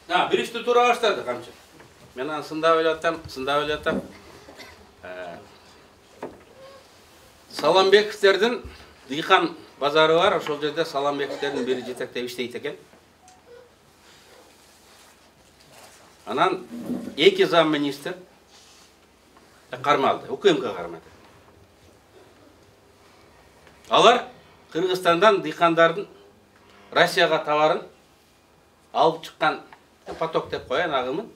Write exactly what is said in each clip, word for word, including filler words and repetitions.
А, бир ишти туура баштады камчы. Мен аны сындап эле атам, сындап эле атам. Саламбековдердин дыйкан базары бар, ошол жерде Саламбековдердин бири жетектеп иштейт экен. Анан эки зам министр кармалды, УКМК кармады. Алар Кыргызстандан дыйкандардын Россияга товарын алып чыккан поток деп коеюн агымын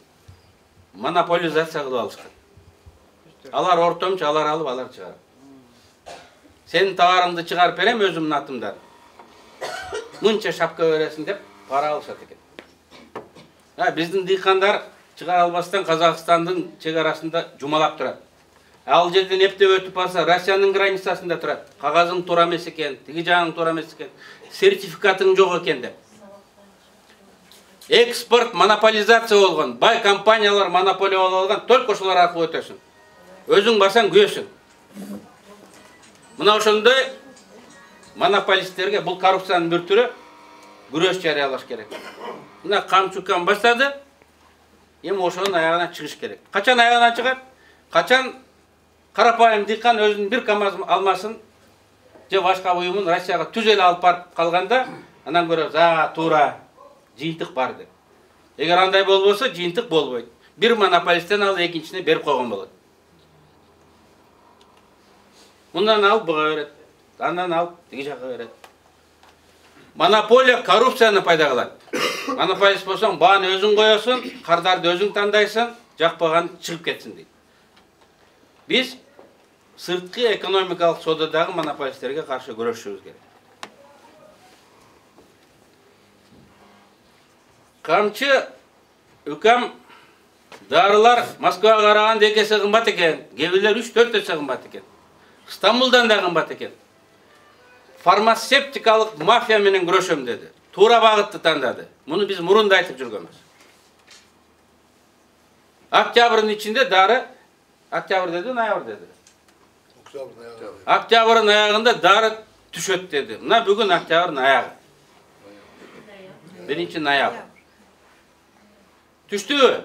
монополизация кылып алышкан. Алар ортомчу, алар алып, алар чыгарат. Сенин товарыңды чыгарып берем өзүмдүн атымдан. Мынча шапка бересиң деп пара алышат экен. А биздин дыйкандар чыгара албастан Казакстандын чек арасында жумалап турат. Ал жерден эптеп өтүп барса Россиянын границасында турат. Кагазың туура эмес экен, тиги жагың туура эмес экен, сертификатың жок экен деп. Экспорт монополизация болгон, бай компаниялар монополия болуп алган, только ошолор аркылуу өтөсүң. Өзүң барсаң күбөсүң. Мына ошондой монополисттерге бул коррупциянын бир түрү күрөш жарыялаш керек. Мына Камчукан баштады, эми ошонун аягына чыгыш керек. Качан аягына чыгат? Качан карапайым дыйкан өзүнүн бир КАМАЗ алмасын же башка буюмун Россияга түз эле алып барып калганда, анан көрөбүз, а туура жыйынтык бар деп. Эгер андай болбосо, жыйынтык болбойт. Бир монополисттен алып экинчисине берип койгон болот. Мындан алып буга берет, андан алып тиги жакка берет. Монополия коррупцияны пайда кылат. Монополист болсоң, бааны өзүң коесуң, кардарды өзүң тандайсың, жакпаган чыгып кетсин дейт. Биз сырткы экономикалык соодадагы монополисттерге каршы күрөшүбүз керек. Камчы укам дарылар Москвага караганда эки эсе кымбат экен, кебилер үч төрт эсе кымбат экен. Стамбулдан да кымбат экен. Фармацевтикалык мафия менен күрөшөм деди. Туура багытты тандады. Муну биз мурунда айтып жүргөнбүз. Октябрдын ичинде дары, октябрь деди, ноябрь деди. Октябрдын аягында дары түшөт деди. Мына бүгүн октябрдын аягы. биринчи ноябрь. Түштүбү?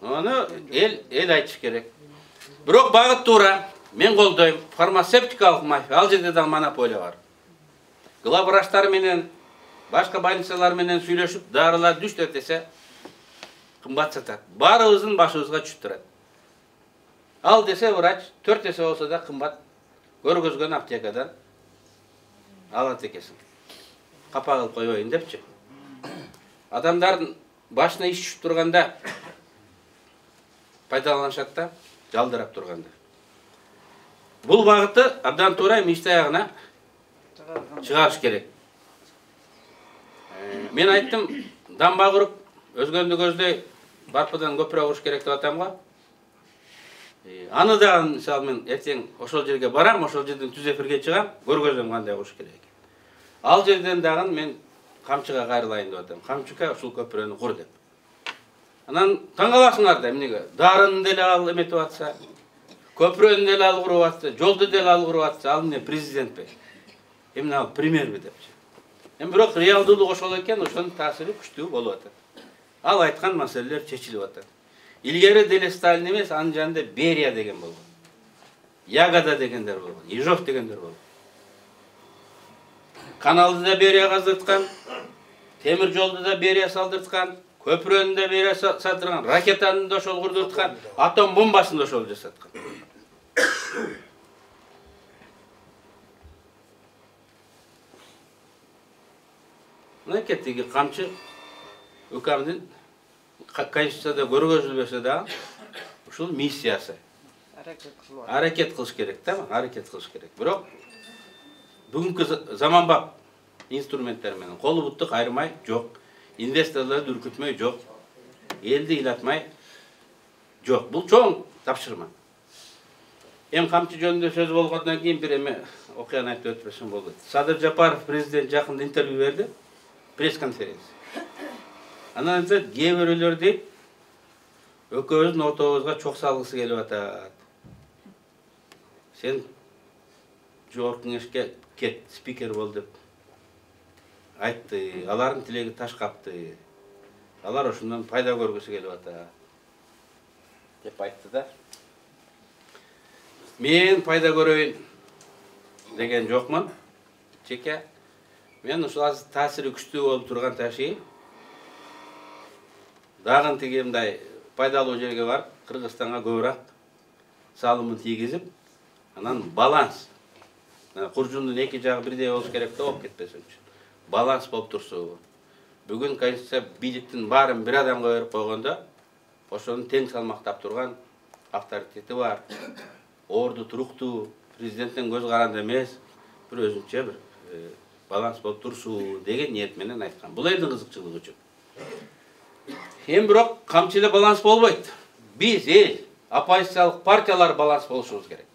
Аны эл эл айтыш керек. Бирок багыт туура. Мен колдойм. Фармацевтикалык мафия, ал жерде да монополия бар. Главврачтар менен, башка больницалар менен сүйлөшүп, дарылар үч төрт эсе кымбат сатат. Баарыбыздын башыбызга түшүп турат. Ал десе врач төрт эсе болсо да кымбат көргөзгөн аптекадан алат экенсиң. Капа кылып койбойн депчи. Адамдардын башына иш түшүп турганда пайдаланышат да, жалдырап турганда. Бул багытты абдан туура ишти аягына чыгарыш керек. Мен айттым, дамба куруп, өзгөндү көздөй барпыдан көпүрө куруш керек деп атам го. Аны да мисалы мен эртең ошол жерге барам, ошол жерден түз эфирге чыгам, көргөзөм кандай куруш керек экен. Ал жерден дагы мен Камчыга кайрылайын деп атам. Камчыга ушул көпүрөнү кур деп. Анан таң каласыңар да эмнеге? Дарыны деле ал эметип атса, көпүрөнү деле ал куруп атса, жолду деле ал куруп атса, ал эмне президентпи? Эмне ал премьерби депчи. Эми бирок реалдуулук ошол экен, ошонун таасири күчтүү болуп атат. Ал айткан маселелер чечилип атат. Илгери деле Сталин эмес, анын жанында Берия деген болгон. Ягода дегендер болгон, Ежов дегендер болгон. Каналды да Берия каздырткан, темир жолду да Берия салдырткан, көпүрөнү да Берия сатырган, ракетаны да ошол курдурткан, атом бомбасын да ошол жасаткан. Мынакей тиги Камчы укамдын Конституцияда көргөзүлбөсө да ушул миссиясы. Аракет кылыш керек да, аракет кылыш керек. Бирок бүгүнкү заманбап инструменттер менен колу бутту кайрмай жок, инвесторлорду үркүтмөй жок, элди ыйлатмай жок. Бул чоң тапшырма. Эми Камчы жөнүндө сөз болгондон кийин бир эме окуяны айтып өтпөсөм болот. Садыр Жапаров президент жакында интервью берди, пресс-конференция. Анан айтат, кээ бирөөлөр дейт, экөөбүздүн ортобузга чок салгысы келип атат. Сен жогорку кеңешке кет, спикер бол деп айтты. Алардын тилеги таш капты. алар ошондон пайда көргүсү келип атат деп айтты да. Мен пайда көрөйүн деген жокмун. Жеке мен ушул азыр таасири күчтүү болуп турган таши дагы тиги мындай пайдалуу жерге барып Кыргызстанга көбүрөөк салымын тийгизип, анан баланс. Куржундун эки жагы бирдей болуш керек да, болуп кетпесин үчүн. Баланс болуп турсу. Бүгүн конституция бийликтин баарын бир адамга берип койгондо, ошону тең салмактап турган авторитети бар, орду туруктуу, президенттен көз каранды эмес, бир өзүнчө бир баланс болуп турсу деген ниет менен айткан. Бул элдин кызыкчылыгы үчүн. Эми бирок камчы эле баланс болбойт. Биз эл, оппозициялык партиялар баланс болушубуз керек.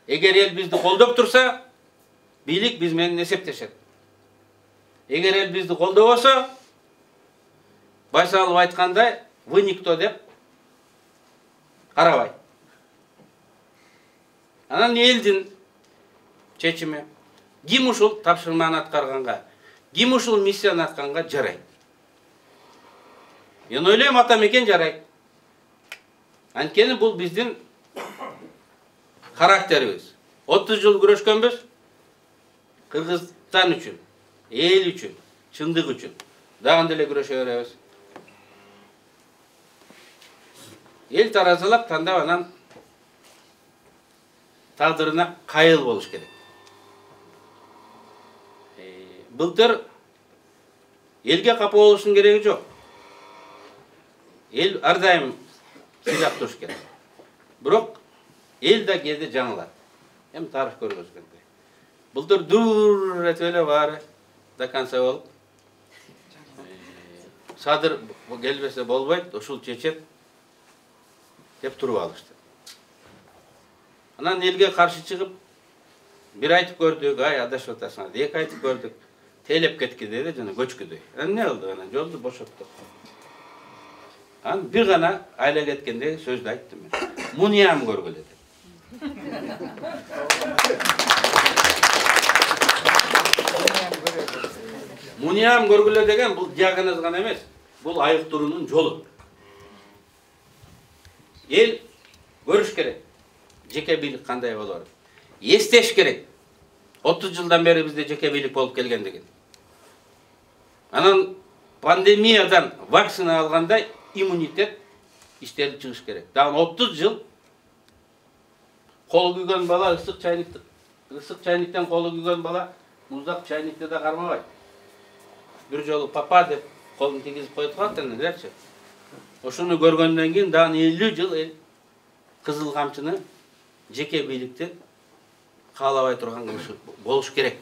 Эгер эл бизди колдоп турса, бийлик биз менен эсептешет. Эгер эл бизди колдобосо, Байсалов айткандай, вы никто деп карабайт. Анан элдин чечими. Ким ушул тапшырманы аткарганга, ким ушул миссияны аткарганга жарайт. Мен ойлойм, ата мекен жарайт. Анткени бул биздин характерибиз. отуз жыл күрөшкөнбүз. Кыргызстан үчүн, эл үчүн, чындык үчүн. Дагы деле күрөшө беребиз. Эл таразалап тандап анан тагдырына кайыл болуш керек. Былтыр элге капа болуштун кереги жок. Эл ар дайым сыйлап туруш керек. Бирок эл да кээде жаңылат. Эми тарых көргөзгөндөй. Былтыр дур этип эле баары до конца болуп, Садыр келбесе болбойт, ушул чечет деп туруп алышты. Анан элге каршы чыгып, бир айтып көрдүк, ай адашып атасың, эки айтып көрдүк, тейлеп кеткиде де жана көчкүдөй. Анан не болду? Анан жолду бошоттук. Анан бир гана айла кеткенде сөздү айттым мен. Мунуям көргүлө деп. Мунуям көргүлө деген бул диагноз гана эмес, бул айыктыруунун жолу. Эл көрүш керек. Жеке бийлик кандай болор? Эстеш керек. отуз жылдан бери бизде жеке бийлик болуп келгендигин. Анан пандемиядан вакцина алгандай иммунитет иштелип чыгыш керек. Дагы отуз жыл кол күйгөн бала ысык чайникти ысык чайниктен колу күйгөн бала муздак чайникти да кармабайт. Бир жолу папа деп колун тийгизип коюп калат элечи. Ошону көргөндөн кийин дагы элүү жыл эл кызыл камчыны жеке бийликти каалабай турган болуш керек.